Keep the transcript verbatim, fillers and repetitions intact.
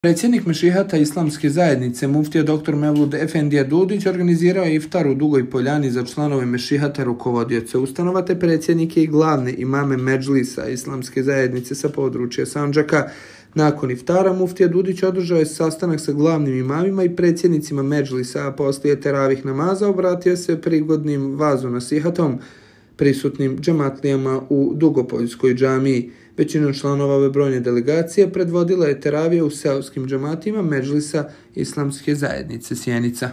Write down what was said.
Predsjednik Mešihata Islamske zajednice, muftija doktor Mevlud Efendija Dudić, organizirao je iftar u Dugoj Poljani za članove Mešihata, rukovodioce ustanova te predsjednike i glavne imame Medžlisa Islamske zajednice sa područja Sandžaka. Nakon iftara muftija Dudić održao je sastanak sa glavnim imamima i predsjednicima Medžlisa, a poslije teravih namaza obratio se prigodnim vazu nasihatom prisutnim džematlijama u Dugopoljskoj džamiji. Većinu članova ove brojne delegacije predvodila je teravija u seoskim džematima Medžlisa Islamske zajednice Sjenica.